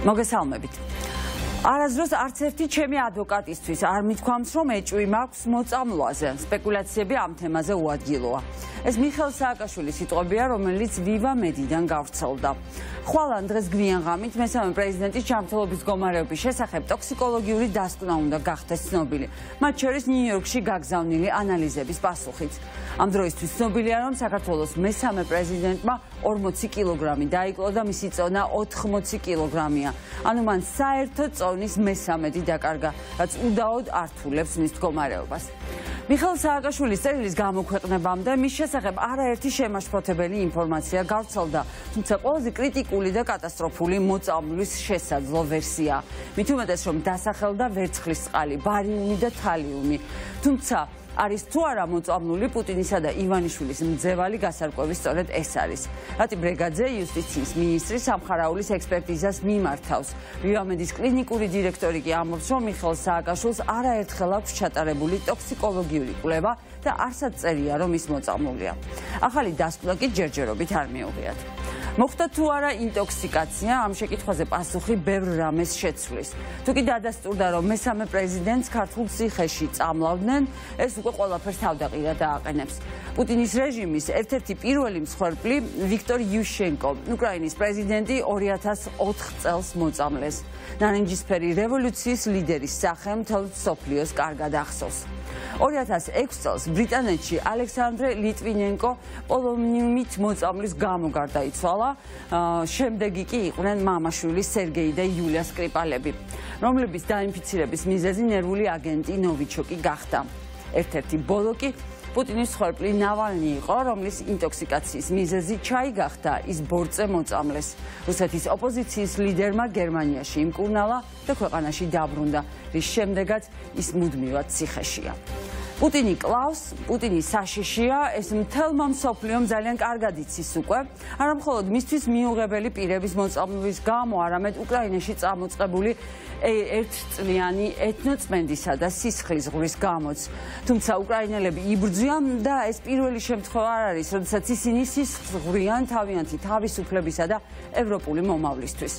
მოგესალმებით. არასდროს არც ერთი ჩემი ადვოკატისთვის არ მithქვამს, რომ ეჭვი მაქვს მოწამვლაზე. სპეკულაციები ამ თემაზე უადგილოა. ეს მიხეილ სააკაშვილის სიტყვებია, რომელიც ვივა მედიდან გავრცელდა. ხვალან დღეს გვიანღამით მესამე პრეზიდენტის ჯანმრთელობის მდგომარეობის შესახებ ტოქსიკოლოგიური დასკვნა უნდა გახდეს ცნობილი. მათ შორის ნიუ-იორკში გაგზავნილი ანალიზების პასუხით. ამ დროისთვის ცნობილია, რომ საქართველოს მესამე პრეზიდენტმა 40 კილოგრამი დაიკლო და მისი წონა 80 კილოგრამია. ანუ მან საერთო წონის მესამედი დაკარგა, რაც უდაოდ ართულებს მის მდგომარეობას. მიხეილ სააკაშვილის წერილის გამოქვეყნებამდე მის შესახებ არაერთი შემაშფოთებელი ინფორმაცია გავრცელდა, თუმცა ყველაზე კრიტიკული და კატასტროფული მოწამვლის შესაძლო ვერსია. მით უმეტეს, რომ დასახელდა ვერცხლისწყალი, ბარიუმი და თალიუმი. თუმცა არის თუ არა მოწამლული პუტინისა და ივანიშვილის მძევალი გასარკვევის სწორედ ეს არის. რატი ბრეგაძე იუსტიციის მინისტრი სამხარაულის ექსპერტიზას მიმართავს. ვივამედის კლინიკური დირექტორი კი ამბობს, რომ მიხეილ სააკაშვილს არაერთხელ აქვს ჩატარებული ტოქსიკოლოგიური კვლევა და არსად წერია, რომ ის მოწამლულია. ახალი დასკვნა კი ჯერჯერობით არ მიუღიათ. მოხდა თუ არა ინტოქსიკაცია, ამ შეკითხვაზე პასუხი ბევრ რამეს შეცვლის. თუ კი დადასტურდა, რომ მესამე პრეზიდენტს ქართულ ციხეში წამლავდნენ, ეს უკვე ყველაფერს თავდაყირად ააყენებს. პუტინის რეჟიმის ერთ-ერთი პირველი მსხვერპლი ვიქტორ იუშენკო, უკრაინის პრეზიდენტი 2004 წელს მოწამლეს. ნარინჯისფერი რევოლუციის ლიდერის სახე მთელ მსოფლიოს კარგად ახსოვს. 2006 წელს ბრიტანეთში ალექსანდრე ლიტვინენკო პოლონიუმით მოწამვლის გამო გარდაიცვალა. შემდეგი კი იყვნენ მამაშვილი სერგეი და იულია სკრიპალები, რომლების დაინფიცირების მიზეზი ნერვული აგენტი ნოვიჩოკი გახდა. ერთ-ერთი ბოლო კი პუტინის მსხვერპლი ნავალნი იყო, რომლის ინტოქსიკაციის მიზეზი ჩაი გახდა, ის ბორწე მოწამლეს. რუსეთის ოპოზიციის ლიდერმა გერმანიაში იმკურნალა და ქვეყანაში დაბრუნდა, რის შემდეგაც ის მუდმივად ციხეშია. პუტინი კლავს, პუტინი საშიშია, ეს მთელმა მსოფლიომ ძალიან კარგად იცის უკვე, არა მხოლოდ მისთვის მიუღებელი პირების მოწამვლის გამო, არამედ უკრაინაში წამოწყებული ერთწლიანი ეთნოწმენდისა და სისხლის ზღვრის გამოც. თუმცა უკრაინელები იბრძვიან და ეს პირველი შემთხვევა არ არის, როდესაც ისინი სისხლს ზღვრიან თავიანთი თავისუფლებისა და ევროპული მომავლისთვის.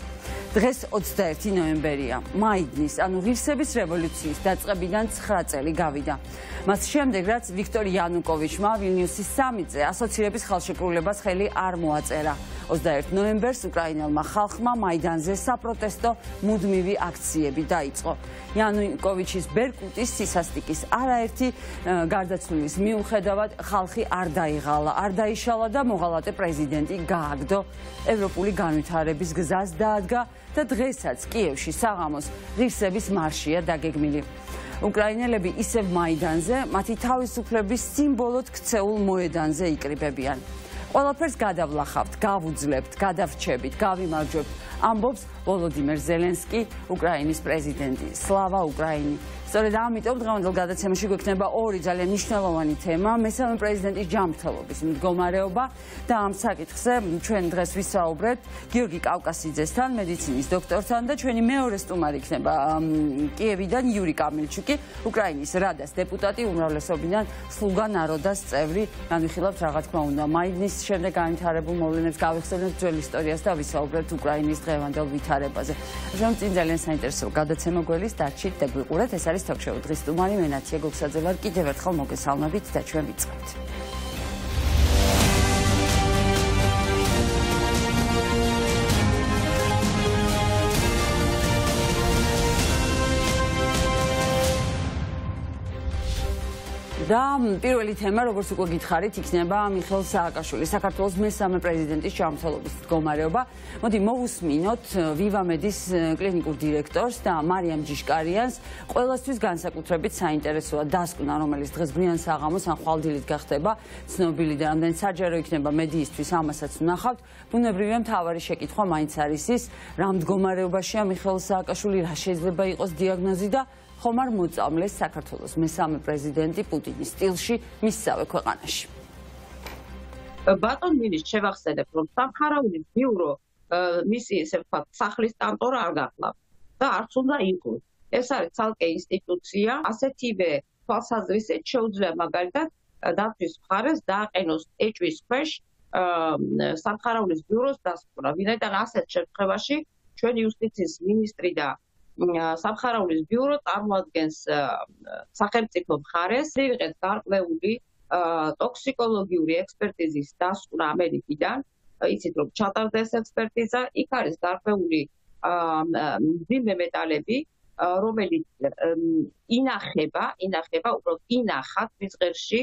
დღეს 21 ნოემბერია, მაიდნის, ანუ ღირსების რევოლუციის დაწყებიდან 9 წელი გავიდა. მას შემდეგ, რაც ვიქტორ იანუკოვიჩმა ვილნიუსის სამიტზე ასოცირების ხელშეკრულებას ხელი არ მოაწერა. 21 ნოემბერს უკრაინელმა ხალხმა მაიდანზე საპროტესტო მუდმივი აქციები დაიწყო. იანუკოვიჩის ბერკუტის სისასტიკის არაერთი გარდაცვლილის მიუხედავად ხალხი არ დაიღალა, არ დაიშალა და მოღალატე პრეზიდენტი გააგდო, ევროპული განვითარების გზას დაადგა და დღესაც კიევში საღამოს ღირსების მარშია დაგეგმილი. უკრაინელები ისევ მაიდანზე, მათი თავისუფლების სიმბოლოდ ქცეულ მოედანზე იკრიბებიან. ყველაფერს გადავლახავთ, გავუძლებთ, გადავრჩებით, გავიმარჯვებთ, ამბობს ვოლოდიმერ ზელენსკი, უკრაინის პრეზიდენტი. სლავა უკრაინი! სწორედ ამიტომ დღევანდელ გადაცემაში გვექნება ორი ძალიან მნიშვნელოვანი თემა, მესამე პრეზიდენტის ჯანმრთელობის მდგომარეობა და ამ საკითხზე ჩვენ დღეს ვისაუბრებთ გიორგი კავკასიძესთან, მედიცინის დოქტორთან და ჩვენი მეორე სტუმარი იქნება კიევიდან იური კამილჩუკი, უკრაინის რადას დეპუტატი, უმრავლესობიდან სლუგა ნაროდას წევრი. განვიხილავთ რა თქმა უნდა მაიდნის შემდეგ განვითარებულ მოვლენებს, გავიხსენებთ ძველ ისტორიას და ვისაუბრებთ უკრაინის დღევანდელ ვითარებაზე. რომ წინ ძალიან საინტერესო გადაცემა გველის დარჩით და გვიყურეთ. ეს არის თოქ-შოუ დღის სტუმარი მე ნათია გოგსაძე ვარ. კიდევ ერთხელ მოგესალმებით და ჩვენ ვიწყებთ. და პირველი თემა, როგორც უკვე გითხარით, იქნება მიხეილ სააკაშვილის, საქართველოს მესამე პრეზიდენტის ჯანმრთელობის მდგომარეობა. მოდი მოვუსმინოთ ვივამედის კლინიკურ დირექტორს და მარიამ ჯიშკარიანს. ყველასთვის განსაკუთრებით საინტერესოა დასკვნა, რომელიც დღეს ბრიან საღამოს ან ხვალდილით გახდება ცნობილი და რამდენი საჯარო იქნება მედიისთვის, ამასაც ვნახავთ. ბუნებრივია მთავარი შეკითხვა მაინც არის ის, რა მდგომარეობაშია მიხეილ სააკაშვილი, რა შეიძლება იყოს დიაგნოზი და ხომ არ მოწამლეს საქართველოს მესამე პრეზიდენტი პუტინის სტილში მისსავე ქვეყანაში. ბატონ მინისტრ, შევახსენებ, რომ სამხარაულის ბიურო მისი ესე ვთქვათ სახლის კანტორა არ გახლავთ და არც უნდა იყოს. ეს არის ცალკე ინსტიტუცია, ასეთივე თვალსაზრისით შეუძლია მაგალითად დაცვის მხარეს დააყენოს ეჭვის ქვეშ სამხარაულის ბიუროს დასკვნა. ვინაიდან ასეთ შემთხვევაში ჩვენი იუსტიციის მინისტრი და სამხარაულის ბიურო წარმოადგენს სახელმწიფო მხარეს. ვიღეთ გარკვეული ტოქსიკოლოგიური ექსპერტიზის დასკვნა ამერიკიდან. იცით რომ ჩატარდა ეს ექსპერტიზა, იქ არის გარკვეული მძიმე მეტალები, რომელიც ინახება, უბრალოდ ინახათ მის ღერში,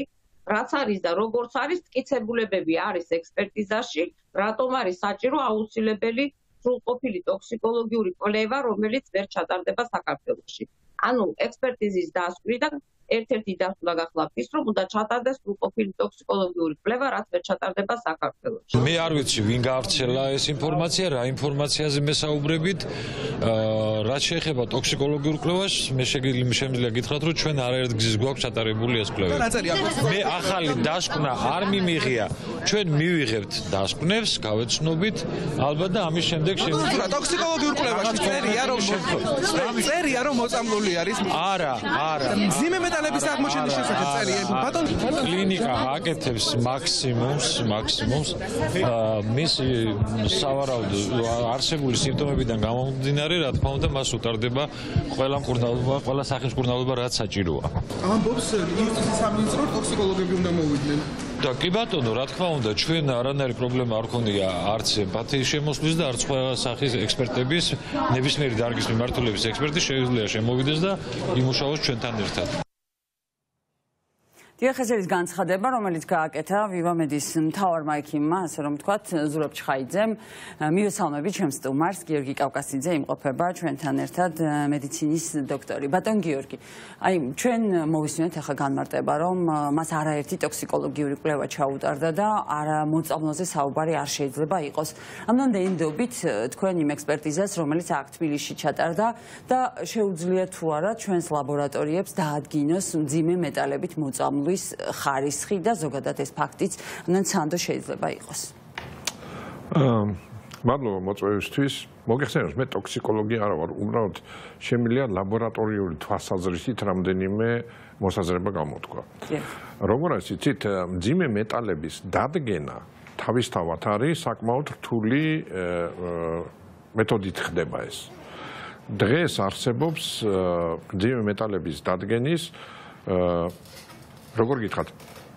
რაც არის და როგორც არის მტკიცებულებები არის ექსპერტიზაში, რატომ არის საჭირო აუცილებელი სრულყოფილი ტოქსიკოლოგიური კვლევა, რომელიც ვერ ჩატარდება საქართველოში. ანუ ექსპერტიზის დასკვნიდან ერთ-ერთი დასკვნა გახლავთ ის, რომ უნდა ჩატარდეს სრულყოფილი ტოქსიკოლოგიური კვლევა, რაც ვერ ჩატარდება საქართველოში. მე არ ვიცი, ვინ გაავრცელა ეს ინფორმაცია, რა ინფორმაციაზე მესაუბრებით, რაც შეეხება ტოქსიკოლოგიურ კვლევას, მე შემიძლია გითხრათ, რომ ჩვენ არაერთ გზის გვაქვს ჩატარებული ეს კვლევა. მე ახალი დასკვნა არ მიმიღია. ჩვენ მივიღებთ დასკვნებს, გავეცნობით, ალბათ და ამის შემდეგ შეგვიძლია ტოქსიკოლოგიურ კვლევაში წერია რომ მოწამლული არის. არა. მძიმე მეტალების აღმოჩენის შესახებ წერია. ბატონ კლინიკა აკეთებს მაქსიმუმს მის სავარაუდო არსებული სიმპტომებიდან გამომდინარე, რა თქმა უნდა, მას უტარდება ყველა მკურნალობა, ყველა სახის მკურნალობა, რაც საჭიროა. ამბობს იუსტიციის სამინისტრო ტოქსიკოლოგები უნდა მოვიდნენ. და კი ბატონო, რა თქმა უნდა, ჩვენ არანაირი პრობლემა არ ქონია არც ემპათიის შემოსვლის და არც ყველა სახის ექსპერტების, ნებისმიერი დარგის მიმართულების ექსპერტი შეუძლია შემოვიდეს და იმუშაოს ჩვენთან ერთად. დიახეზერის განცხადება, რომელიც გააკეთა ვივამედის მთავარმა ექიმმა, ასე რომ ვთქვათ, ზურაბ ჩხაიძემ, მივესალმებით ჩემს სტუმარს, გიორგი კავკასიძე იმყოფება ჩვენთან ერთად მედიცინის დოქტორი. ბატონ გიორგი, აი ჩვენ მოვისმინეთ ახლა განმარტება, რომ მას არაერთი ტოქსიკოლოგიური კვლევა ჩაუტარდა და არა მოწამლოზე საუბარი არ შეიძლება იყოს. ამდენდობით თქვენ იმ ექსპერტიზას, რომელიც აქ თბილისში ჩატარდა და შეუძლია თუ არა ჩვენს ლაბორატორიებს დაადგინოს მძიმე მეტალებით მოწამლული ხარისხი და ზოგადად ეს ფაქტიც სანდო შეიძლება იყოს. მადლობა მოწვევისთვის. მოგეხსენებათ, მე ტოქსიკოლოგი არა ვარ, უბრალოდ შემიძლია ლაბორატორიული თვალსაზრისით რამდენიმე მოსაზრება გამოთქვა. როგორც იცით, მძიმე მეტალების დადგენა თავისთავად არის საკმაოდ რთული მეთოდით ხდება ეს. დღეს არსებობს მძიმე მეტალების დადგენის როგორ გითხრათ,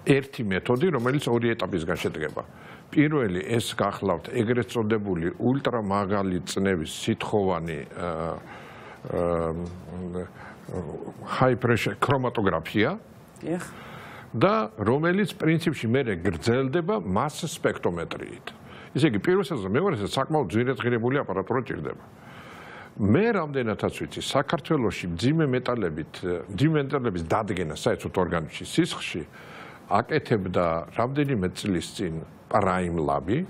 ერთი მეთოდი, რომელიც ორი ეტაპისგან შედგება. პირველი ეს გახლავთ ეგრეთ წოდებული ულტრამაღალი წნევის სითხოვანი high pressure ქრომატოგრაფია და რომელიც პრინციპში მე გრძელდება mass სპექტრომეტრიით. ისე იგი პირველ სეზონზე მეორე სეზონზე საკმაოდ ძვირადღირებული აპარატურა ჭირდება. მე რამდენადაც ვიცი, საქართველოში მძიმე მეტალების დადგენა საერთოდ ორგანიზმში სისხლში აკეთებდა რამდენიმე წლის წინ Prime Lab-ი,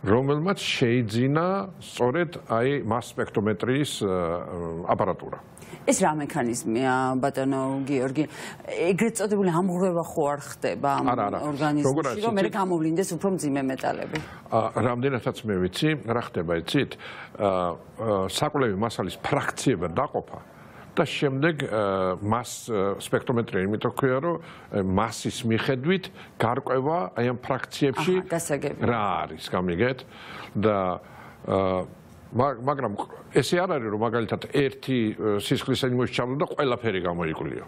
რომელმაც შეიძინა სწორედ აი mass სპექტრომეტრიის აპარატურა. ეს რა მექანიზმია, ბატონო გიორგი? ეგრეთ წოდებული ამღვრევა ხო არ ხდება ორგანიზმში, რომ მე გამოვლინდეს უფრო მძიმე მეტალები? რამდენადაც მე ვიცი, რა ხდება იცით? საკვლევი მასალის ფრაქციება დაყოფა და შემდეგ mass სპექტრომეტრია, იმიტომ ქვია, რომ მასის მიხედვით გარკვევა აი ამ ფრაქციებში რა არის, გამიგეთ? და მაგრამ ესე არ არის, რომ მაგალითად ერთი სისხლის ემოში ჩავდა და ყველაფერი გამოიკვლიო.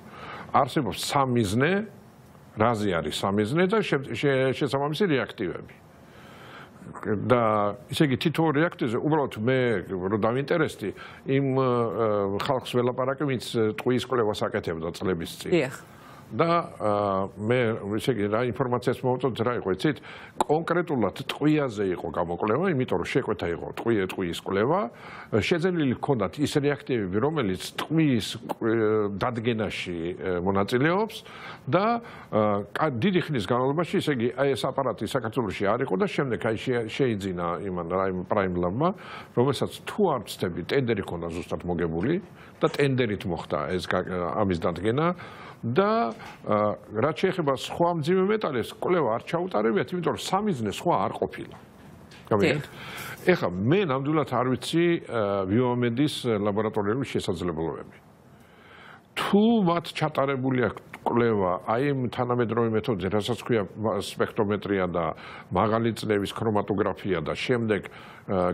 არსებობს სამიზნე, რაზე არის სამიზნე და შესაბამისი რეაქტივები. და ისე იგი თითოეულ რეაქტივზე უბრალოდ მე რო დავინტერესდი იმ ხალხს ველაპარაკე, ვინც ტყუის კვლევას აკეთებდა წლების წინ. და მე ისე იგი რა ინფორმაციას მოვუწოდეთ, რა იყო იცით? კონკრეტულად ტყვიაზე იყო გამოკვლევა, იმიტომ რომ შეკვეთა იყო ტყუის კვლევა, შეძენილი ჰქონდათ ის რეაქტივები, რომელიც ტყუის დადგენაში მონაწილეობს და დიდი ხნის განმავლობაში, ისე იგი აი ეს აპარატი საქართველოში არ იყო და შემდეგ აი შეიძინა იმან Prime Lab-მა, რომელსაც თუ არ ვცდები, ტენდერი ჰქონდა ზუსტად მოგებული და ტენდერით მოხდა ეს ამის დადგენა. და რაც შეეხება სხვა მძიმე მეტალებს, კვლევა არ ჩაუტარებიათ, იმიტომ რომ სამიზნე სხვა არ ყოფილა. გამიგეთ? ეხლა მე ნამდვილად არ ვიცი ვიომედის ლაბორატორიული შესაძლებლობები. თუ მათ ჩატარებული აქვს კვლევა აი იმ თანამედროვე მეთოდზე, რასაც ქვია სპექტრომეტრია და მაღალი წნევის ქრომატოგრაფია და შემდეგ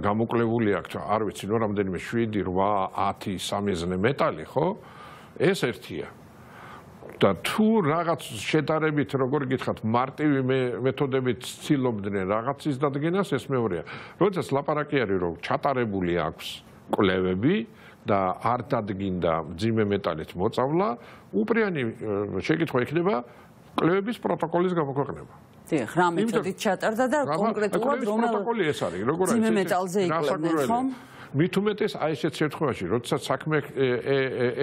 გამოკვლეული აქვს, არ ვიცი, ნუ რამდენიმე 7, 8, 10 სამიზნე მეტალი, ხო? ეს ერთია. და თუ რაღაც შედარებით, როგორ გითხრათ, მარტივი მეთოდებით ცდილობდნენ რაღაცის დადგენას, ეს მეორეა. როდესაც ლაპარაკი არის, რომ ჩატარებული აქვს კვლევები და არ დადგინდა მძიმე მეტალით მოწავლა, უპრიანი შეკითხვა იქნება კვლევების პროტოკოლის გამოქვეყნება. დიახ, რა მეთოდით ჩატარდა და კონკრეტულად რომელ პროტოკოლი ეს არის, როგორ არის? მძიმე მეტალზე იკვლევდნენ, ხო? მით უმეტეს აი ესეთ შემთხვევაში, როდესაც საქმე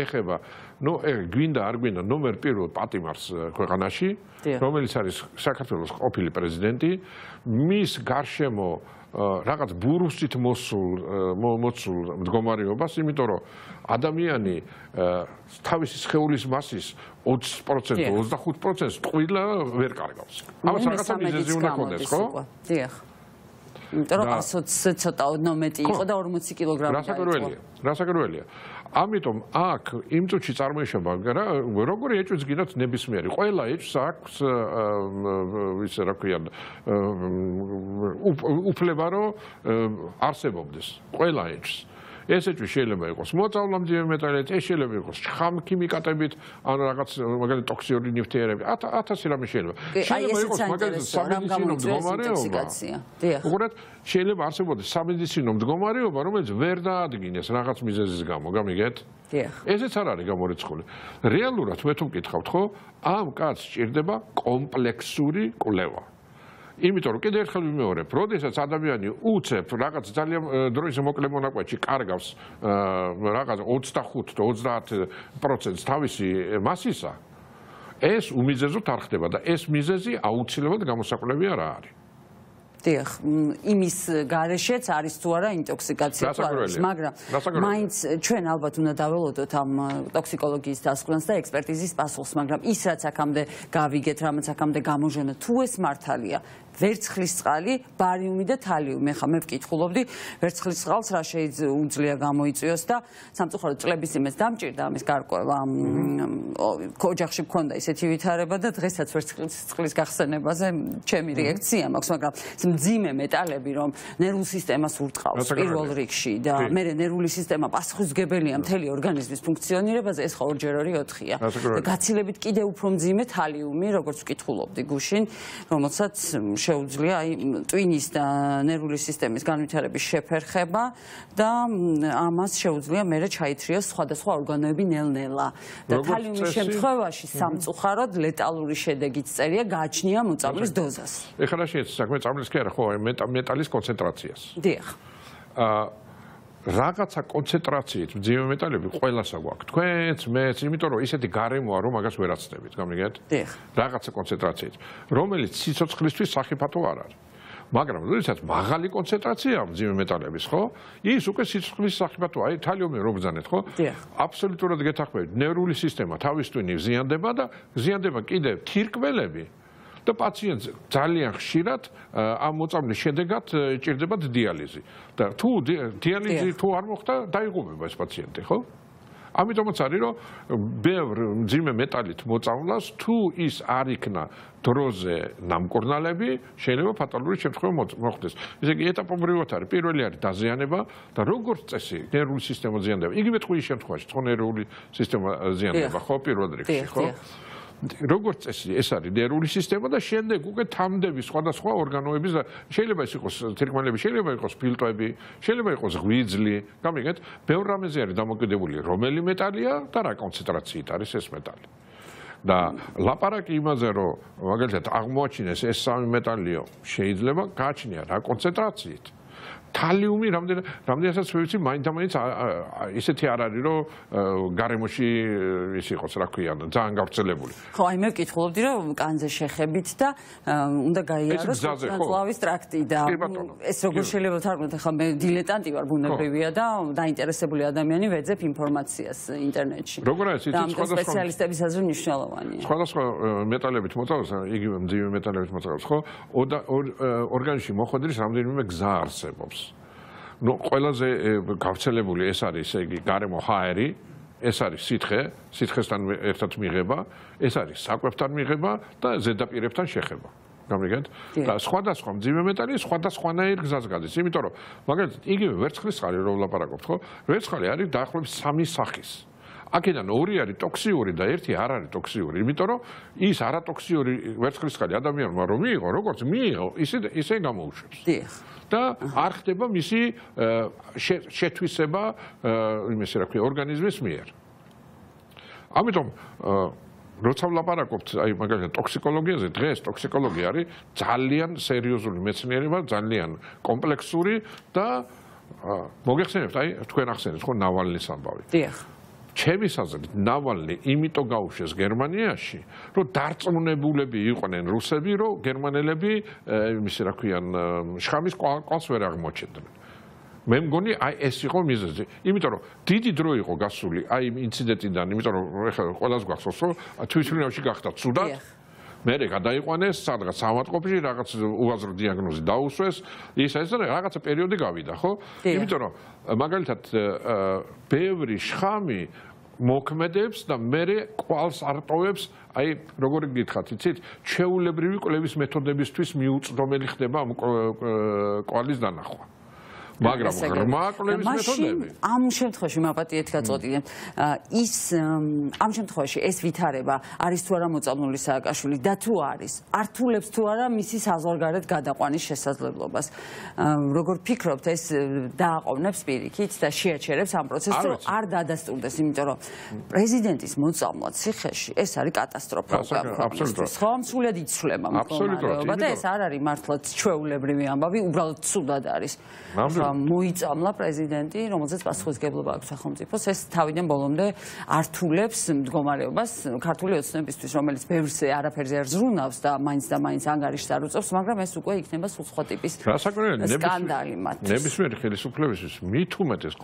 ეხება, ნუ გვინდა არ გვინდა ნომერ პირველ პატიმარს ქვეყანაში, რომელიც არის საქართველოს ყოფილი პრეზიდენტი, მის გარშემო რაღაც ბურუსით მოცულ მდგომარეობას, იმიტომ რომ ადამიანი თავისი სხეულის მასის 20%, 25%-ს ტყუილა ვერ კარგავს. ამას რაღაცა მიზეზი უნდა ქონდეს, ხო? დიახ. იმიტომ რომ 120 ცოტა ოდნავ მეტი იყო და 40 კილოგრამი დაიწყო. რასაკურველია. ამიტომ აქ იმ წუთში წარმოიშობა როგორი ეჭვიც გინდათ ნებისმიერი. ყველა ეჭვს აქვს ისე რა ქვია უფლება რომ არსებობდეს. ყველა ეჭვს. ეს ეჭვი შეიძლება იყოს მოწავლა მძიმე მეტალით, ეს შეიძლება იყოს ხამქიმიკატებით, ან რაღაც მაგალითად ტოქსიური ნივთიერები, 1000 რამე შეიძლება. შეიძლება იყოს მაგალითად სამედიცინო მდგომარეობა. უყურეთ, შეიძლება არსებობდეს სამედიცინო მდგომარეობა, რომელიც ვერ დაადგინეს რაღაც მიზეზის გამო, გამიგეთ? დიახ. ესეც არ არის გამორიცხული. რეალურად მე თუ მკითხავთ, ხო, ამ კაცს სჭირდება კომპლექსური კვლევა. იმიტომ რომ კიდევ ერთხელ ვიმეორებ, როდესაც ადამიანი უცებ რაღაც ძალიან დროის მოკლე მონაკვეთში კარგავს რაღაც 25 და 30% თავისი მასისა, ეს უმიზეზოდ არ ხდება და ეს მიზეზი აუცილებლად გამოსაკვლევი არ არის. დიახ, იმის გარეშეც არის თუ არა ინტოქსიკაცია თუ არა, მაგრამ მაინც ჩვენ ალბათ უნდა დაველოდოთ ამ ტოქსიკოლოგიის დასკვნას და ექსპერტიზის პასუხს, მაგრამ ის რაც აქამდე გავიგეთ, რამაც აქამდე გამოვჟონა, თუ ეს მართალია, ვერცხლისწყალი, ბარიუმი და თალიუმი. ახლა მე ვკითხულობდი, ვერცხლისწყალს რა შეუძლია გამოიწვიოს და სამწუხაროდ წლების იმეს დამჭირდა ამის გარკვევა. ოჯახში მქონდა ისეთი ვითარება და დღესაც ვერცხლისწყლის გახსენებაზე ჩემი რეაქცია მაქვს, მაგრამ მძიმე მეტალები, რომ ნერვულ სისტემას ურტყავს პირველ რიგში და მე ნერვული სისტემა პასუხისმგებელია მთელი ორგანიზმის ფუნქციონირებაზე, ეს ხო 2-4-4-ია. და გაცილებით კიდევ უფრო მძიმე თალიუმი, როგორც ვკითხულობდი გუშინ, რომელსაც შეუძლია აი ტვინის და ნერვული სისტემის განვითარების შეფერხება და ამას შეუძლია მერე ჩაითრიოს სხვადასხვა ორგანოები ნელ-ნელა. და თალიუმის შემთხვევაში სამწუხაროდ ლეტალური შედეგიც წერია გააჩნია მოწამვლის დოზას. ეხლა რა შეიძლება საქმე წამლის კი არა, ხო, მეტალის კონცენტრაციას. დიახ. რაღაცა კონცენტრაციით მძიმე მეტალები ყველასა გვაქვს. თქვენც, მეც, იმიტომ რომ ისეთი გარემოა, რომ მაგას ვერ აცდებით, გამიგეთ? დიახ. რაღაცა კონცენტრაციით, რომელიც სიცოცხლისთვის სახიფათო არ არის. მაგრამ როდესაც მაღალი კონცენტრაცია მძიმე მეტალების, ხო? ის უკვე სიცოცხლის სახიფათო, აი თალიუმი რო ბრძანეთ, ხო? აბსოლუტურად გეთანხმებით, ნერვული სისტემა თავის ტვინი ზიანდება და ზიანდება კიდევ თირკმელები. და პაციენტს ძალიან ხშირად ამ მოწამვლის შედეგად ჭირდებათ დიალიზი. და თუ დიალიზი თუ არ მოხდა, დაიღუპება ეს პაციენტი, ხო? ამიტომაც არის, რომ ბევრ მძიმე მეტალით მოწამვლას თუ ის არ იქნა დროზე ნამკურნალები, შეიძლება ფატალური შემთხვევა მოხდეს. ესე იგი, ეტაპობრივად არის. პირველი არის დაზიანება და როგორც წესი, ნერვული სისტემა ზიანდება. იგივე ტყუის შემთხვევაში, ხო, ნერვული სისტემა ზიანდება, ხო, პირველ რიგში, ხო? როგორც წესი, ეს არის ნერვული სისტემა და შემდეგ უკვე თამდები სხვადასხვა ორგანოების შეიძლება ის იყოს თირკმელები, შეიძლება იყოს ფილტვები, შეიძლება იყოს ღვიძლი, გამიგეთ? ბევრ რამეზე არის დამოკიდებული, რომელი მეტალია და რა კონცენტრაციით არის ეს მეტალი. და ლაპარაკი იმაზე, რომ მაგალითად აღმოაჩინეს ეს სამი მეტალიო, შეიძლება გააჩნია რა კონცენტრაციით. თალიუმი რამდენადაც ვიცი, მაინც ისეთი არ არის, რომ გარემოში ის იყოს, რა ქვია, ძალიან გავრცელებული. ხო, აი მე ვკითხულობდი, რომ კანზე შეხებით და უნდა გაიაროს წყლის ტრაქტი და ეს როგორ შეიძლება ვთარგმნოთ, ახლა მე დილეტანტი ვარ, ბუნებრივია და დაინტერესებული ადამიანი ვეძებ ინფორმაციას ინტერნეტში. როგორ არის იცით, სხვადასხვა სპეციალისტების აზრი მნიშვნელოვანია. სხვადასხვა მეტალებით მოწავს, იგივე მძიმე მეტალებით მოწავს, ხო? ორგანიზმში მოხვედრის რამდენიმე გზა არსებობს. ნუ ყველაზე გავრცელებული ეს არის, ესე იგი, გარემო ჰაერი, ეს არის სითხესთან ერთად მიღება, ეს არის საკვებთან მიღება და ზედაპირებთან შეხება. გამიგეთ? და სხვადასხვა მძიმე მეტალი სხვადასხვანაირ გზას გადის. იმიტომ რომ მაგალითად იგივე ვერცხლისწყალი რომ ვლაპარაკობთ, ხო? ვერცხალი არის დაახლოებით 3 სახის. აქედან 2 არის ტოქსიური და 1 არ არის ტოქსიური. იმიტომ რომ ის არატოქსიური ვერცხლისწყალი ადამიანმა რომ მიიღო, როგორც მიიღო, ისე გამოუშვებს. და არ ხდება მისი შეთვისება იმისი რა ქვია ორგანიზმის მიერ. ამიტომ როცა ვლაპარაკობთ აი მაგალითად ტოქსიკოლოგიაზე, დღეს ტოქსიკოლოგია არის ძალიან სერიოზული მეცნიერება, ძალიან კომპლექსური და მოგეხსენებთ აი თქვენ ახსენეთ ხო ნავალნის ამბავი. დიახ. ჩემის აზრით ნავალნი იმიტომ გაუშვეს გერმანიაში, რომ დარწმუნებულები იყვნენ რუსები, რომ გერმანელები იმისი რა ქვიან შხამის კვალს ვერ აღმოჩენდნენ. მე მგონი აი ეს იყო მიზეზი. იმიტომ რომ დიდი დრო იყო გასული აი იმ ინციდენტიდან, იმიტომ რომ ეხლა ყველას გახსოვს, რომ თვითმფრინავში გახდა ცუდად. მერე გადაიყვანეს სადღაც ავადმყოფში, რაღაც უაზრო დიაგნოზი დაუსვეს, ეს რაღაცა პერიოდი გავიდა, ხო? იმიტომ რომ მაგალითად ბევრი შხამი მოქმედებს და მერე კვალს არტოვებს, აი როგორი გითხრათ, იცით, ჩვეულებრივი კვლევის მეთოდებისთვის მიუწვდომელი ხდება ამ კვალის დანახვა. მაგრამ ღრმა კვლევის მეთოდები ამ შემთხვევაში მაპატიეთ გაწოდით ის ამ შემთხვევაში ეს ვითარება არის თუ არა მოწამლული სააკაშვილი და თუ არის ართულებს თუ არა მისი საზღვარგარეთ გადაყვანის შესაძლებლობას როგორ ფიქრობთ ეს დააყოვნებს პირიქით და შეაჩერებს ამ პროცესს რომ არ დადასტურდეს იმიტომ რომ პრეზიდენტის მოწამლა ციხეში ეს არის კატასტროფა აბსოლუტურად ხო სულად იცვლება მდგომარეობა და ეს არ არის მართლაც ჩვეულებრივი ამბავი უბრალოდ ცუდად არის მოიწამლა პრეზიდენტი, რომელზეც პასუხისმგებლობა აქვს სახელმწიფოს, ეს თავიდან ბოლომდე ართულებს მდგომარეობას ქართული ოცნებისთვის, რომელიც ბევრს არაფერზე არ ზრუნავს და მაინც ანგარიშს არ უწევს, მაგრამ ეს უკვე იქნება სხვა ტიპის სკანდალი მათთვის. ნებისმიერი ხელისუფლებისთვის მით უმეტეს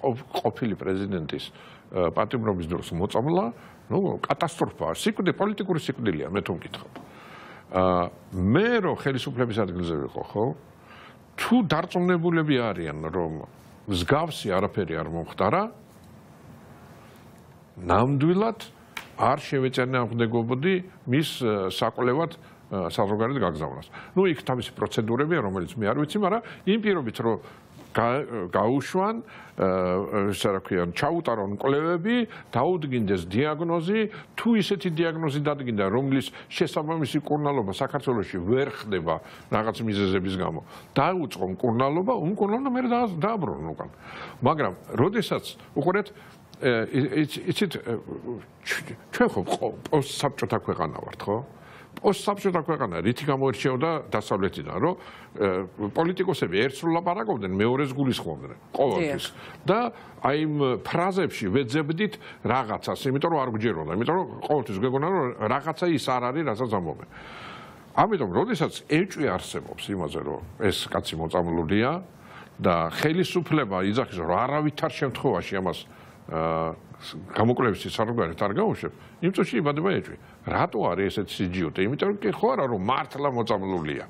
ყოფილი პრეზიდენტის პატიმრობის დროს მოწამლა, ნუ კატასტროფაა, პოლიტიკური სიკვდილია, მე თუ მკითხავ. მე რო ხელისუფლების ადგილზე ვიყო, ხო? თუ დარწმუნებულები არიან რომ მსგავსი არაფერი არ მომხდარა ნამდვილად არ შევეწინააღმდეგობოდი მის საკვლევად საზღვარგარეთ გაგზავნას. ნუ იქ თავისი პროცედურებია რომელიც მე არ ვიცი, მაგრამ იმ პირობით რომ გაუშვან ესე რა ქვია ჩაუტარონ კვლევები, დაუდგინდეს დიაგნოზი, თუ ისეთი დიაგნოზი დადგინდა, რომლის შესაბამისი მკურნალობა საქართველოში ვერ ხდება რაღაც მიზეზების გამო. დაუწყო მკურნალობა, უმკურნალობა მე დააბრუნონ უკან. მაგრამ როდესაც უყურეთ იცით ჩვენ ხო პოსტსაბჭოთა ქვეყანა ვართ, ხო? პოსტსაბჭოთა ქვეყანა რითი გამოირჩეოდა დასავლეთიდან, რომ პოლიტიკოსები ერთს ვლაპარაკობდნენ, მეორეს გულისხმობდნენ ყოველთვის. და აი იმ ფრაზებში ვეძებდით რაღაცას, იმიტომ რომ არ გვჯეროდა, იმიტომ რომ ყოველთვის გვეგონა რომ რაღაცა ის არ არის, რასაც ამბობენ. ამიტომ, როდესაც ეჭვი არსებობს იმაზე, რომ ეს კაცი მოწამლულია და ხელისუფლება იძახის, რომ არავითარ შემთხვევაში ამას გამოკვლევის საზღვარგარეთ არ გაუშვებ, იმ წუთში იბადება ეჭვი. რატო არის ესეთი სიჯიუტე? იმიტომ რომ კი ხო არა რომ მართლა მოწამლულია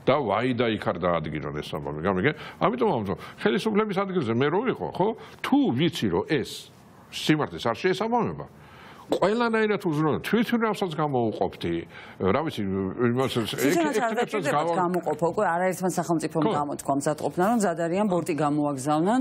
და ვაი და იქ არ დაადგინონ ეს ამბავი. გამიგე? ამიტომ ამბობ, ხელისუფლების ადგილზე მე რო ვიყო, ხო? თუ ვიცი რომ ეს სიმართლეს არ შეესაბამება, ყველანაირად უზრუნო თვითმფრინავსაც გამოუყოფთი. რა ვიცი, იმას ექნებსაც გამოყოფო, უკვე არაერთმა სახელმწიფომ გამოთქვა მზადყოფნა, რომ მზად არიან ბორტი გამოაგზავნან,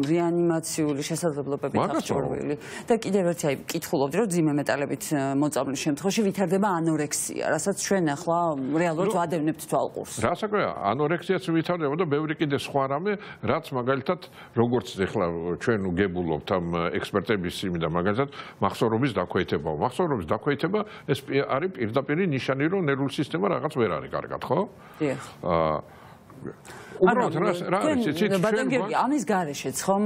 რეანიმაციული შესაძლებლობებით აღჭურვილი. და კიდევ ერთი აი კითხულობდი, რომ ძიმე მეტალებით მოწამვლის შემთხვევაში ვითარდება ანორექსია, რასაც ჩვენ ახლა რეალურად ვადევნებთ თვალყურს. რასაკვირველია, ანორექსიაც ვითარდება და ბევრი კიდე სხვა რამე, რაც მაგალითად როგორც ახლა ჩვენ გებულობთ ამ ექსპერტების იმიდან მაგალითად მახსოვრობის დაქვეითება. მახსოვრობის დაქვეითება ეს არის პირდაპირი ნიშანი, რომ ნერვული სისტემა რაღაც ვერ არის კარგად, ხო? დიახ. უბრალოდ რა არის ცით ბატონ გიორგი ამის გარეშეც ხომ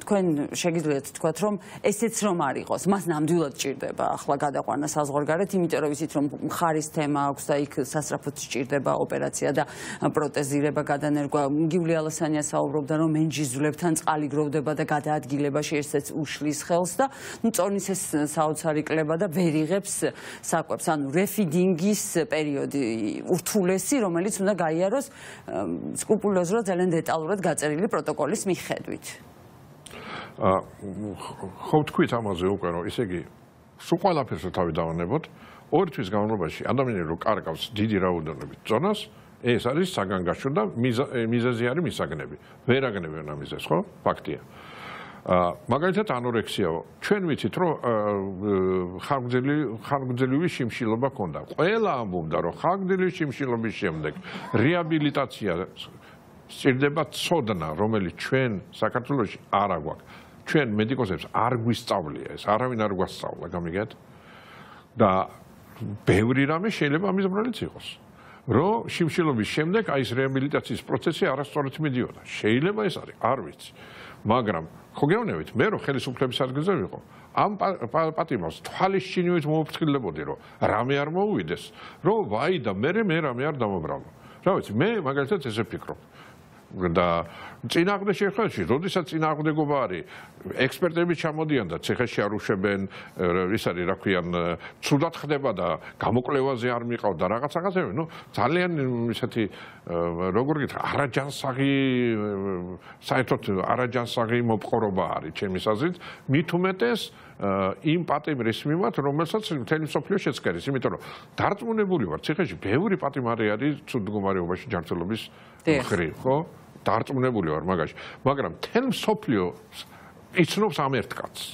თქვენ შეგიძლიათ თქვათ რომ ესეც რომ არ იყოს მას ნამდვილად ჭირდება ახლა გადაყვანა საზღვარგარეთ იმიტომ რომ ვიცით რომ მხარის თემა აქვს და იქ სასწრაფოდ ჭირდება ოპერაცია და პროტეზირება გადანერგვა გიული ალასანია საუბრობდა რომ მენჯიზვლებთან წყალი გროვდება და გადაადგილებაში ესეც უშლის ხელს და ნუ წონის ეს საოცარი კლება და ვერ იღებს საკვებს ანუ რეფიდინგის პერიოდი ურთულესი რომელიც უნდა გაიაროს სკრუპულოზურად ძალიან დეტალურად გაწერილი პროტოკოლის მიხედვით. ხო თქვით ამაზე უკვე რომ ისე იგი სულ ყველაფერს თავი დავანებოთ ორი თვის განმავლობაში ადამიანი რო კარგავს დიდი რაოდენობით ზონას ეს არის საგანგაშო და მიზეზი არის მისაგნები ვერ აგნებენ ამ მიზეზს ხო ფაქტია მაგალითად ანორექსიაო ჩვენ ვიცით რომ ხანგრძლივი შიმშილობა ქონდა ყველა ამბობდა რომ ხანგრძლივი შიმშილობის შემდეგ რეაბილიტაცია სჭირდება ცოდნა რომელიც ჩვენ საქართველოში არ აგვაქვს ჩვენ მედიკოსებს არ გვისწავლია ეს არავინ არ გვასწავლა გამიგეთ და ბევრი რამე შეიძლება ამის ბრალიც იყოს რომ შიმშილობის შემდეგ აი ეს რეაბილიტაციის პროცესი არასწორად მიდიოდა შეიძლება ეს არის არ ვიცი მაგრამ ხო გეუბნებით მე რომ ხელისუფლების ადგილზე ვიყო ამ პატიმრს თვალის ჩინივით მომფრთხილებოდი რომ რამე არ მოუვიდეს რომ ვაი და მე რამე არ დამობრალო რა ვიცი მე მაგალითად ესე ფიქრობ და წინააღმდეგ შეხვედრაში, როდესაც წინააღმდეგობა არის, ექსპერტები ჩამოდიან და ციხეში არ უშვებენ, ის არის, რა ქვიან, ცუდად ხდება და გამოკვლევაზე არ მიყავ და რაღაცები, ნუ ძალიან ისეთი როგორ გითხრა, არაჯანსაღი საერთოდ არაჯანსაღი მოპყრობა არის ჩემის აზრით, მით უმეტეს იმ პატიმრის მიმართ, რომელსაც მთელი მსოფლიო შეცქერის, იმიტომ რომ დარწმუნებული ვარ, ციხეში ბევრი პატიმარი არის ცუდ მდგომარეობაში ჯანმრთელობის მხრივ, ხო? დარწმუნებული ვარ მაგაში, მაგრამ მთელი მსოფლიო იცნობს ამ ერთ კაცს.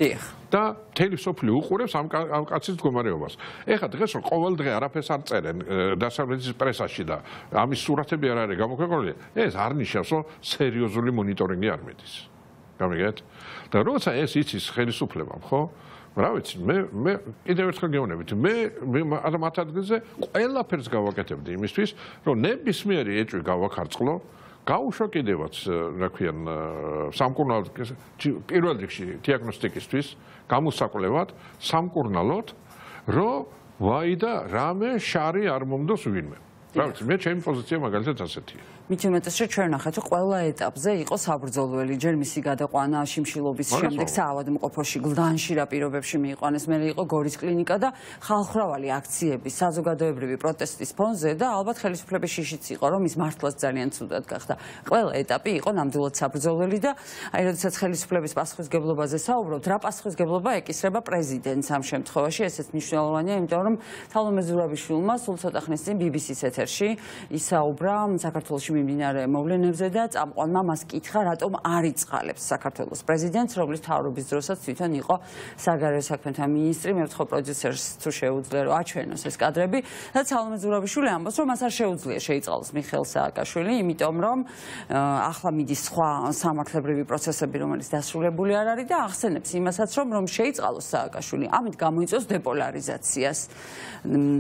დიახ. და მთელი მსოფლიო უყურებს ამ კაცის მდგომარეობას. ეხლა დღეს რომ ყოველ დღე არაფერს არ წერენ დასავლეთის პრესაში და ამის სურათები არ არის გამოქვეყნებული, ეს არ ნიშნავს, რომ სერიოზული მონიტორინგი არ მიდის. გამიგეთ? და როცა ეს იცის ხელისუფლებამ, ხო? რა ვიცი, მე კიდევ ერთხელ გეუბნებით, მე მათ ადგილზე ყველაფერს გავაკეთებდი იმისთვის, რომ ნებისმიერი ეჭვი გავაქარწყლო, გავუშვა კიდევაც, რა ქვიან, სამკურნალოდ პირველ რიგში დიაგნოსტიკისთვის, გამოსაკვლევად, სამკურნალოდ, რომ ვაი და რამე შარი არ მომდოს ვინმე. რა ვიცი, მე ჩემი პოზიცია მაგალითად ასეთია. მით უმეტეს რომ ჩვენ ნახეთ რომ ყველა ეტაპზე იყო საბრძოლველი ჯერ მისი გადაყვანა შიმშილობის შემდეგ საავადმყოფოში გლდანში რა პირობებში მიიყვანეს მე იყო გორის კლინიკა და ხალხმრავალი აქციები საზოგადოებრივი პროტესტის ფონზე და ალბათ ხელისუფლების შიშიც იყო რომ ის მართლაც ძალიან ცუდად გახდა ყველა ეტაპი იყო ნამდვილად საბრძოლველი და აი როდესაც ხელისუფლების პასუხისგებლობაზე საუბრობთ რა პასუხისგებლობა ეკისრება პრეზიდენტს ამ შემთხვევაში ესეც მნიშვნელოვანია იმიტომ რომ თალომე ზურაბიშვილმა სულ ცოტა ხნის წინ BBC-ს ეთერში ისაუბრა საქართველოში მიმდინარე მოვლენებზე და წამყვანმა მას კითხა, რატომ არ იწყალებს საქართველოს პრეზიდენტს, რომლის მთავრობის დროსაც თვითონ იყო საგარეო საქმეთა მინისტრი, მე ვთხოვ პროდიუსერს თუ შეუძლია რომ აჩვენოს ეს კადრები და თალომე ზურაბიშვილი ამბობს, რომ მას არ შეუძლია შეიწყალოს მიხეილ სააკაშვილი, იმიტომ რომ ახლა მიდის სხვა სამართლებრივი პროცესები, რომელიც დასრულებული არ არის და ახსენებს იმასაც, რომ შეიწყალოს სააკაშვილი, ამით გამოიწვევს დეპოლარიზაციას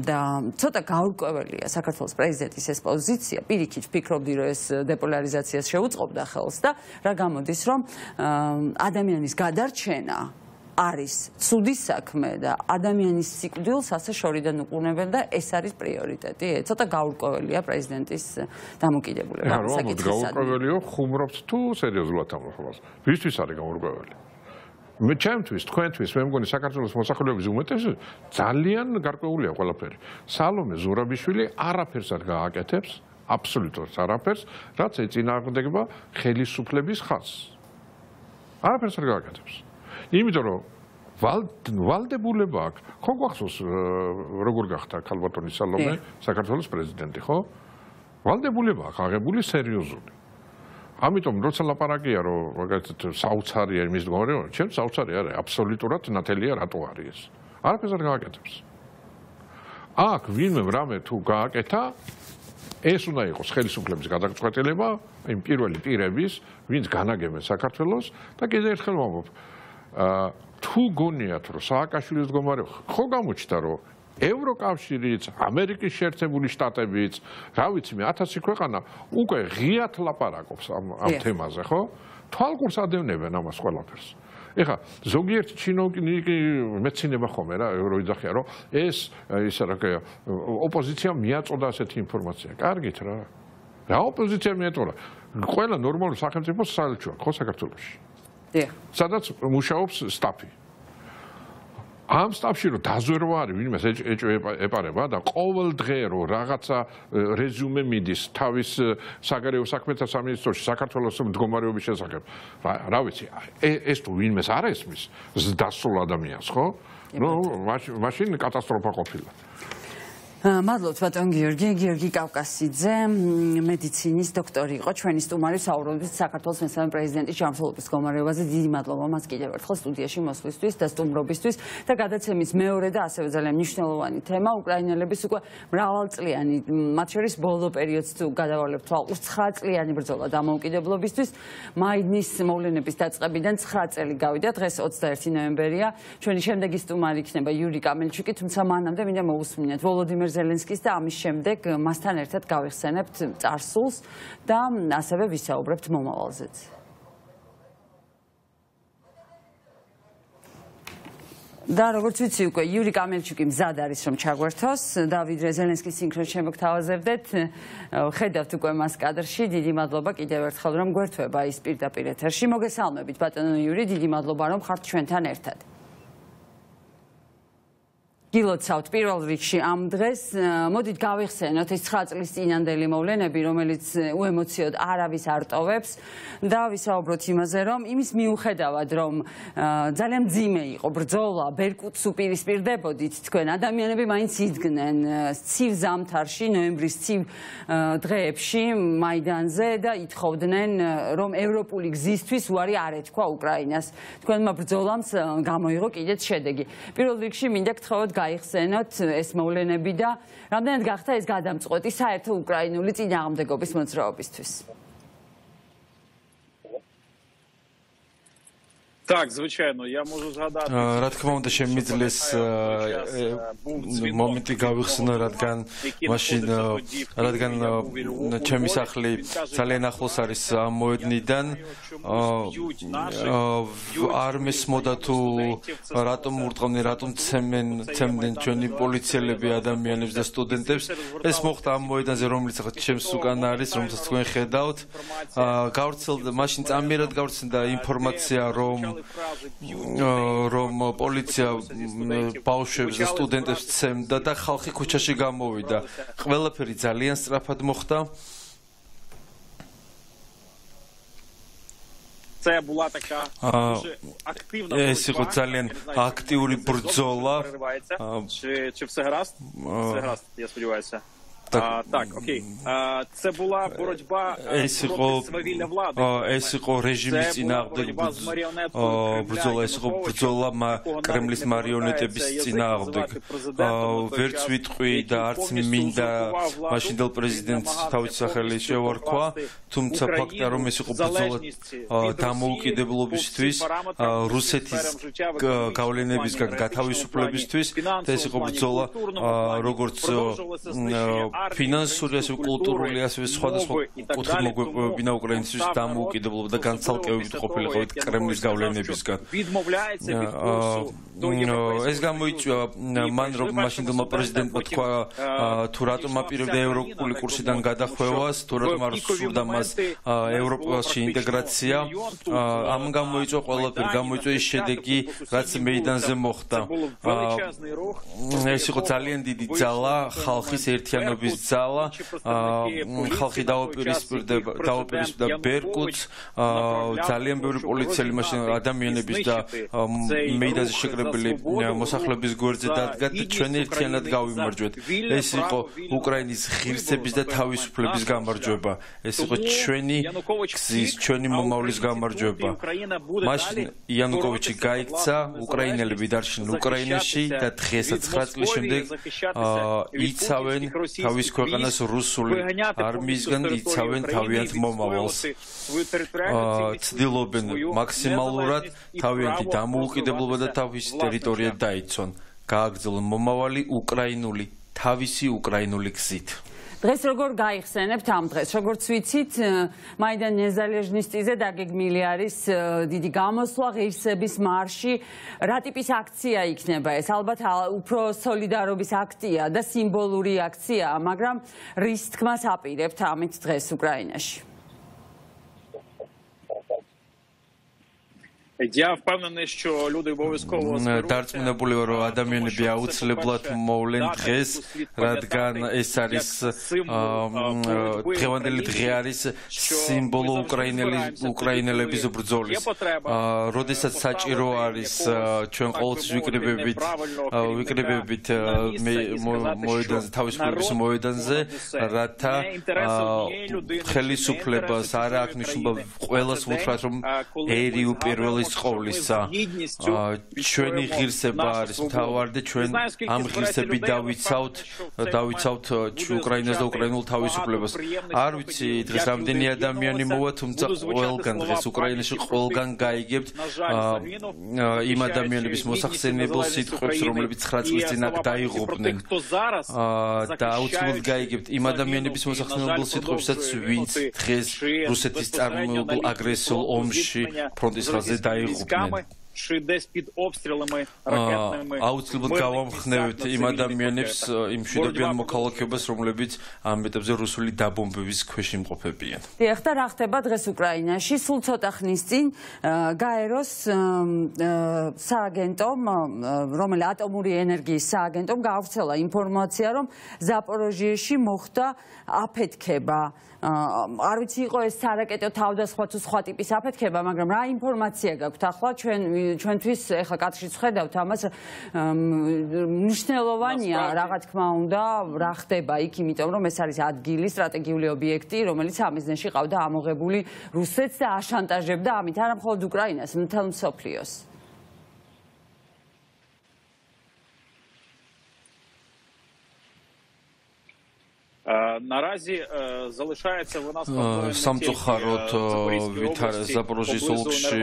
და ცოტა გაურკვეველია საქართველოს პრეზიდენტის ეს პოზიცია, პირიქით ვფიქრობდი რომ ეს დეპოლარიზაციას შეუწყობდა ხელს და რა გამოდის რომ ადამიანის გადარჩენა არის ცუდი საქმე და ადამიანის სიკვდილს ასე შორიდან უყურებენ და ეს არის პრიორიტეტი. ცოტა გაურკვეველია პრეზიდენტის დამოკიდებულება ამ საკითხისადმი. გაურკვეველიო ხუმრობთ თუ სერიოზულად ამბობს. ვისთვის არის გაურკვეველი? მე ჩემთვის, თქვენთვის, მე მგონი საქართველოს მოსახლეობის უმეტესობა ძალიან გარკვეულია ყველაფერი. სალომე ზურაბიშვილი არაფერს არ გააკეთებს, აბსოლუტურად არაფერს, რაც ეწინააღმდეგება ხელისუფლების ხაზს. არაფერს არ გააკეთებს. იმიტომ რომ ვალდებულება აქვს, ხო გვახსოვს როგორ გახდა ქალბატონი სალომე საქართველოს პრეზიდენტი, ხო? ვალდებულება აქვს აღებული სერიოზული. ამიტომ როცა ლაპარაკია რომ მაგალითად საოცარია იმის მდგომარეობა, ჩემს საოცარი არის, აბსოლუტურად ნათელია რატო არის ეს. არაფერს არ გააკეთებს. აქ ვინმე რამე თუ გააკეთა, ეს უნდა იყოს ხელისუფლების გადაწყვეტილება, იმ პირველი პირების, ვინც განაგებენ საქართველოს და კიდევ ერთხელ ვამბობ, თუ გონიათ რომ სააკაშვილის მდგომარეობა ხო გამოჩნდა რომ ევროკავშირიც, ამერიკის შეერთებული შტატებიც, რა ვიცი მე 1000 ქვეყანა უკვე ღიად ლაპარაკობს ამ თემაზე, ხო? თვალყურს ადევნებენ ამას ყველაფერს. ეხლა ზოგიერთი ჩინოვნიკი მეცნიერება ხომ რა ევროიძახია რომ ეს ისა რა ქვია ოპოზიციამ მიაწოდა ასეთი ინფორმაცია. კარგით რა. რა ოპოზიციამ მიაწოდა? ყველა ნორმალური სახელმწიფო საელჩოა ხო საქართველოში. დიახ. სადაც მუშაობს სტაფი. ამ სტაფში რომ დაზვერვა არის ვინმე ეპარება და ყოველ დღე რომ რაღაცა რეზუმე მიდის თავის საგარეო საქმეთა სამინისტროში საქართველოს მდგომარეობის შესახებ რა ვიცი ეს თუ ვინმეს არ ესმის დასულ ადამიანს ხო ნუ მაშინ კატასტროფა ყოფილა მადლობთ ბატონ გიორგი კავკასიძე მედიცინის დოქტორი იყო ჩვენი სტუმარი საუბრობთ საქართველოს მესამე პრეზიდენტის ჯანმრთელობის მდგომარეობაზე დიდი მადლობა მას კიდევ ერთხელ სტუდიაში მოსვლისთვის და სტუმრობისთვის და გადაცემის მეორე და ასევე ძალიან მნიშვნელოვანი თემა უკრაინელების უკვე მრავალწლიანი მათ შორის ბოლო პერიოდს თუ გადავალებთ თვალყურს 9 წლიანი ბრძოლა დამოუკიდებლობისთვის მაიდნის მოვლენების დაწყებიდან 9 წელი გავიდა დღეს 21 ნოემბერია ჩვენი შემდეგი სტუმარი იქნება იური კამელჩუკი თუმცა მანამდე მინდა მოусმინეთ ვოლოდიმერ ზელენსკის და ამის შემდეგ მასთან ერთად გავიხსენებთ წარსულს და ასევე ვისაუბრებთ მომავალზეც. და როგორც ვიცი უკვე იური კამელჩუკი მზად არის რომ ჩაგვერთოს და ვიდრე ზელენსკის სინქრონს შემოგთავაზებდეთ ხედავთ უკვე მას კადრში დიდი მადლობა კიდევ ერთხელ რომ გვერთვება ის პირდაპირ ეთერში მოგესალმებით ბატონო იური დიდი მადლობა რომ ხართ ჩვენთან ერთად. გილოცავთ პირველ რიგში ამ დღეს მოდით გავიხსენოთ ეს 9 წლის წინანდელი მოვლენები რომელიც უემოციოდ არავის არ ტოვებს და ვისაუბროთ იმაზე რომ იმის მიუხედავად რომ ძალიან მძიმე იყო ბრძოლა ბერკუტს უპირისპირდებოდით თქვენ ადამიანები მაინც იდგნენ ცივ ზამთარში ნოემბრის ცივ დღეებში მაიდანზე და ითხოვდნენ რომ ევროპული გზისთვის უარი არ ეთქვა უკრაინას თქვენმა ბრძოლამ გამოიღო კიდეც შედეგი პირველ რიგში მინდა გთხოვოთ გაიხსენოთ ეს მოვლენები და რამდენად გახდა ეს გადამწყვეტი საერთო უკრაინული წინააღმდეგობის მოძრაობისთვის. Так, звичайно, я можу згадати. Რა თქმა უნდა შემიძლეს მომენტი გავიხსენო, რადგან ჩემი სახლი ძალიან ახლოს არის ამ მოედნიდან. არ მესმოდა თუ რატომ ურტყავდნენ, რატომ ცემდნენ ჩვენი პოლიციელები ადამიანებს და სტუდენტებს. ეს მოხდა ამ მოედანზე, რომელიც ახლა ჩემს უკან არის, რომელსაც თქვენ ხედავთ. გავრცელდა, მაშინ წამიერად გავრცელდა ინფორმაცია, რომ პოლიცია ბავშვებს და სტუდენტებს ცემდა და ხალხი ქუჩაში გამოვიდა. ყველაფერი ძალიან სწრაფად მოხდა. ეს იყო ძალიან აქტიური бრძола. Чи все гаразд? Все гаразд, я сподіваюся. Так, окей. Це була боротьба проти свавілля влади. ეს იყო რეჟიმის წინააღმდეგ ბრძოლა, ეს იყო ბრძოლა კრემლის მარიონეტების წინააღმდეგ. ვერც ვიტყვი და არც მინდა მაშინდელ პრეზიდენტს თავის სახელი შევარქვა, თუმცა ფაქტია რომ ეს იყო ბრძოლა დამოუკიდებლობისთვის, რუსეთის გავლენებისგან გათავისუფლებისთვის და ეს იყო ბრძოლა როგორც ფინანსური ასევე კულტურული ასევე სხვადასხვა კუთხით მოგვეპოვებინა უკრაინისთვის დამოუკიდებლობა და განცალკევებით ყოფილიყო კრემლის გავლენებისგან. ეს გამოიწვია მან რომ მაშინდელმა პრეზიდენტმა თქვა თუ რატომ აპირებდა ევროპული კურსიდან გადახვევას, თუ რატომ არ სურდა მას ევროპაში ინტეგრაცია. ამ გამოიწვია ყველაფერი, გამოიწვია ის შედეგი, რაც მეიდანზე მოხდა. ეს იყო ძალიან დიდი ძალა, ხალხის ერთიანობის ძალა, ხალხი დაუპირისპირდა ბერკუტს, ძალიან ბევრი პოლიციელი მაშინ ადამიანების და მეიდანზე შეკრებილი მოსახლეობის გვერდზე დადგა და ჩვენ ერთიანად გავიმარჯვეთ. ეს იყო უკრაინის ღირსების და თავისუფლების გამარჯვება. ეს იყო ჩვენი გზის, ჩვენი მომავლის გამარჯვება. მაშინ იანუკოვიჩი გაიქცა, უკრაინელები დარჩნენ უკრაინაში და დღესაც 9 წლის შემდეგ იცავენ თავის ქვეყანას რუსული არმიისგან იცავენ თავიანთ მომავალს. ცდილობენ მაქსიმალურად თავიანთი დამოუკიდებლობა და თავისი ტერიტორია დაიცვან. გააგრძელონ მომავალი უკრაინული, თავისი უკრაინული გზით. დღეს როგორ გაიხსენებთ ამ დღეს? როგორც ვიცით, მაიდან ნეზალეჟნისტიზე დაგეგმილი არის დიდი გამოსვლა, ღირსების მარში. რა ტიპის აქცია იქნება ეს? ალბათ უფრო სოლიდარობის აქტია და სიმბოლური აქციაა, მაგრამ რის თქმას აპირებთ ამით დღეს უკრაინაში? Я впевнений, що люди обов'язково დარწმუნებული ვარ, რომ ადამიანები აუცილებლად მოვლენ დღეს, რადგან ეს არის დღევანდელი დღე არის სიმბოლო უკრაინელების ბრძოლის. როდესაც საჭირო არის ჩვენ ყოველთვის ვიკრიბებით მოედანზე, თავისუფლების მოედანზე, რათა ხელისუფლებას არ აქვს მნიშვნელობა ყველას უთხრათ, რომ ერი უპირველეს ყოვლისა ჩვენი ღირსება არის მთავარი და ჩვენ ამ ღირსებით დავიცავთ უკრაინას და უკრაინულ თავისუფლებას. არ ვიცი დღეს რამდენი ადამიანი მოვა, თუმცა ყველგან დღეს უკრაინაში ყველგან გაიგებთ იმ ადამიანების მოსახსენებელ სიტყვებს, რომლებიც 9 წლის წინ აქ დაიღუპნენ. და აუცილებლად გაიგებთ იმ ადამიანების მოსახსენებელ სიტყვებსაც, ვინც დღეს რუსეთის წარმოებულ აგრესიულ ომში ფრონტის ხაზზე დაიღუპნენ. აუცილებლად გავამხნევთ იმ ადამიანებს, იმ მშვიდობიან მოქალაქეობას, რომლებიც ამ ეტაპზე რუსული დაბომბების ქვეშ იმყოფებიან. დიახ, და რა ხდება დღეს უკრაინაში? სულ ცოტა ხნის წინ გაეროს სააგენტომ, რომელიც ატომური ენერგიის სააგენტომ გაავრცელა ინფორმაცია, რომ ზაპოროჟიეში მოხდა აფეთქება. არ ვიცი იყო ეს სარაკეტო თავდასხმა თუ სხვა ტიპის აფეთქება, მაგრამ რა ინფორმაცია გაქვთ ახლა ჩვენთვის ეხლა კადრშიც ხედავთ ამას მნიშვნელოვანია რა თქმა უნდა რა ხდება იქ, იმიტომ რომ ეს არის ადგილი, სტრატეგიული ობიექტი, რომელიც ამიზნეში ყავდა ამოღებული რუსეთს და აშანტაჟებდა ამით არა მხოლოდ უკრაინას, მთელ მსოფლიოს. Наразі залишається вона სამწუხაროდ ზაპოროჟიის ოლქში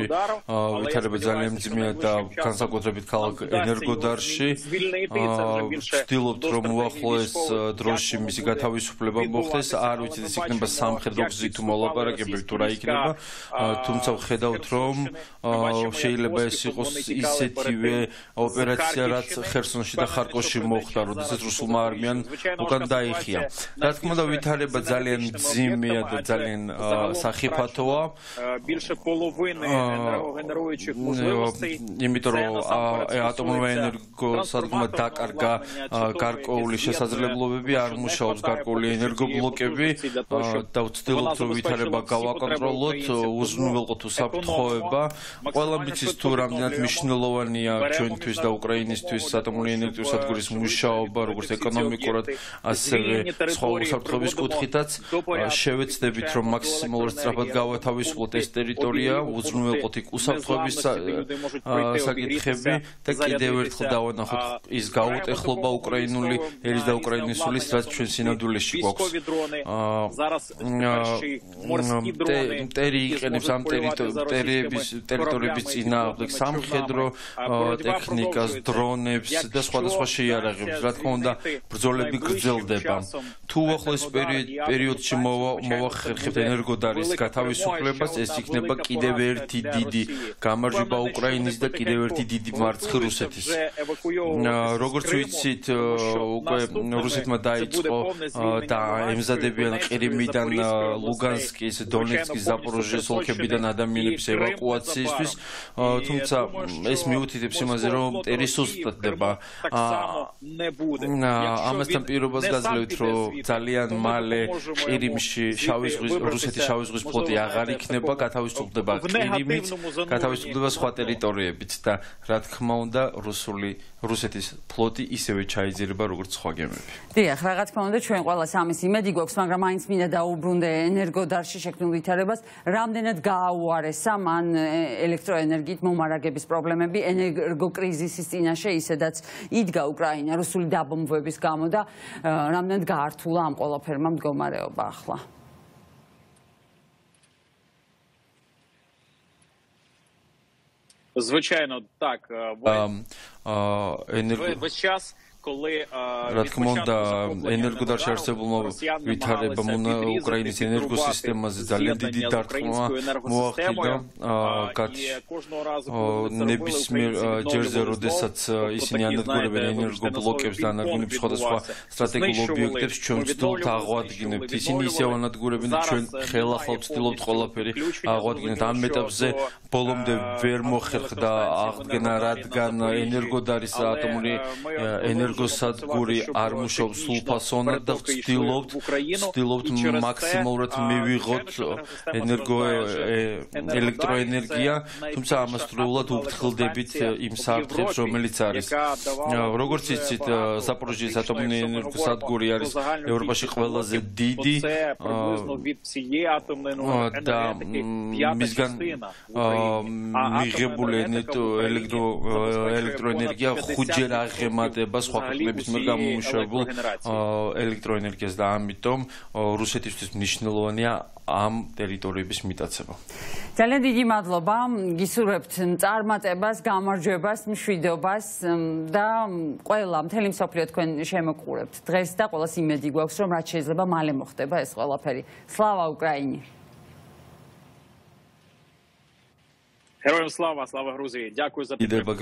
ვითარება ძალიან ძიმეა და განსაკუთრებით ქალაქ ენერგოდარში ვცდილობთ რომ უახლოეს დროში მისი გათავისუფლება მოხდეს. არ ვიცით ეს იქნება სამხედრო გზით თუ მოლაპარაკებით თუ რა იქნება, თუმცა ვხედავთ რომ შეიძლება ეს იყოს ისეთივე ოპერაცია რაც ხერსონში და ხარკოვში მოხდა, როდესაც რუსულმა არმიამ უკან დაიხია. რა თქმა უნდა ვითარება ძალიან ძიმეა და ძალიან სახიფათოა. იმიტომ რომ ატომური ენერგოსადგურმა დაკარგა გარკვეული შესაძლებლობები, არ მუშაობს გარკვეული ენერგობლოკები და ვცდილობთ რომ ვითარება გავაკონტროლოთ, უზრუნველყოთ უსაფრთხოება. ყველა მიცის თუ რამდენად მნიშვნელოვანია ჩვენთვის და უკრაინისთვის ატომური ენერგიის სადგურის მუშაობა, როგორც ეკონომიკურად, ასევე სხვა უსაფრთხოების კუთხითაც შევეცდებით რომ მაქსიმალურად სწრაფად გავათავისუფლოთ ეს ტერიტორია, უზრუნველყოთ იქ უსაფრთხოების საკითხები და კიდევ ერთხელ დავანახოთ ის გაუტეხლობა უკრაინული ერის და უკრაინის სულის, რაც ჩვენ სინამდვილეში გვაქვს. მტერი იყენებს ამ ტერიტორიების წინააღმდეგ სამხედრო ტექნიკას, დრონებს და სხვადასხვა შეიარაღებს. რა თქმა უნდა, ბრძოლები გრძელდება. თუ უახლოეს პერიოდში მოვახერხებთ ენერგოდარის გათავისუფლებას, ეს იქნება კიდევ ერთი დიდი გამარჯვება უკრაინის და კიდევ ერთი დიდი მარცხი რუსეთის. როგორც ვიცით, უკვე რუსეთმა დაიწყო და ემზადებიან ყირიმიდან, ლუგანსკის, დონეცკის, ზაპოროჟიეს ოლქებიდან ადამიანების ევაკუაციისთვის, თუმცა ეს მიუთითებს იმაზე, რომ მტერი სუსტდება. ამასთან პირობას გაძლევთ, რომ ძალიან მალე ყირიმში რუსეთის შავი ზღვის ფლოტი აღარ იქნება, გათავისუფლდება ყირიმიც, გათავისუფლდება სხვა ტერიტორიებიც და რა თქმა უნდა რუსეთის ფლოტი ისევე ჩაიძირება როგორც სხვა გემები. დიახ, რა თქმა უნდა ჩვენ ყველას ამის იმედი გვაქვს, მაგრამ მაინც მინდა დაუბრუნდე ენერგოდარში შექმნილ ვითარებას, რამდენად გააუარესა მან ელექტროენერგიით მომარაგების პრობლემები ენერგოკრიზისის წინაშე, ისედაც იდგა უკრაინა რუსული დაბომბვების გამო და რამდენად გაართულა ამ ყველაფერმა მდგომარეობა ახლა. Звичайно, так. Весь час რა თქმა უნდა, ენერგოდარში არსებულმა ვითარებამ უკრაინის ენერგოსისტემაზე ძალიან დიდი დარტყმა მოახდინა. ნებისმიერ ჯერზე, როდესაც ისინი ანადგურებენ ენერგობლოკებს და ანადგურებენ სხვადასხვა სტრატეგიულ ობიექტებს, ჩვენ ვცდილობთ აღვადგინებთ. ისინი ისევ ანადგურებენ და ჩვენ ხელახლა ვცდილობთ ყველაფერი აღვადგინოთ. ამ ეტაპზე ბოლომდე ვერ მოხერხდა აღდგენა, რადგან ენერგოდარის ატომური ენერგოსადგური არ მუშაობს სრულფასოვნად და ვცდილობთ მაქსიმალურად მივიღოთ ელექტროენერგია, თუმცა ამასდროულად ვფრთხილდებით იმ საფრთხებს, რომელიც არის. როგორც იცით, ზაპოროჟიეს ატომური ენერგოსადგური არის ევროპაში ყველაზე დიდი და მისგან მიღებული ელექტროენერგია 5-ჯერ აღემატება სხვა ქვეყნების მიერ გამომუშავებულ ელექტროენერგიას და ამიტომ რუსეთისთვის მნიშვნელოვანია ამ ტერიტორიების მიტაცება. ძალიან დიდი მადლობა. გისურვებთ წარმატებას, გამარჯვებას, მშვიდობას და ყველა მთელი მსოფლიო თქვენ შემოყურებთ დღეს და ყველას იმედი გვაქვს, რომ რაც შეიძლება მალე მოხდება ეს ყველაფერი. სლავა უკრაინი! Героям слава, слава Грузії. Дякую за підтримку.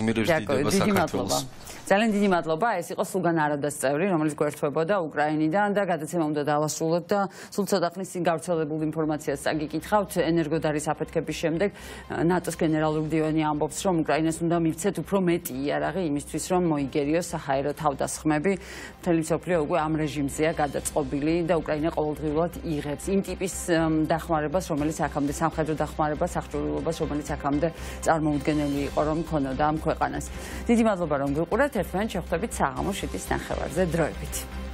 ძალიან დიდი მადლობა. ეს იყო სულგან არადას წევრი, რომელიც გვერდთვებოდა უკრაინიდან და გადაცემა უნდა დავასრულოთ და სულ ცოტა ხნის წინ გავრცელებულ ინფორმაციას წაგიკითხავთ. ენერგოდარის აფეთქების შემდეგ ნატოს გენერალური დივანი ამბობს, რომ უკრაინას უნდა მივცეთ უფრო მეტი იარაღი იმისთვის, რომ მოიგერიოს საჰაერო თავდასხმები. მთელი მსოფლიო უკვე ამ რეჟიმზეა გადაწყობილი და უკრაინა ყოველდღიურად იღებს იმ ტიპის დახმარებას, რომელიც აქამდე სამხედრო დახმარებას, აღჭურვილობას, რომელიც აქამდე წარმოუდგენელი იყო, რომ ქონოდა ამ ქვეყანას. დიდი მადლობა, რომ გიყურებთ. ერთმანეთს შევხვდებით საღამოს 7-ის ნახევარზე დროებით.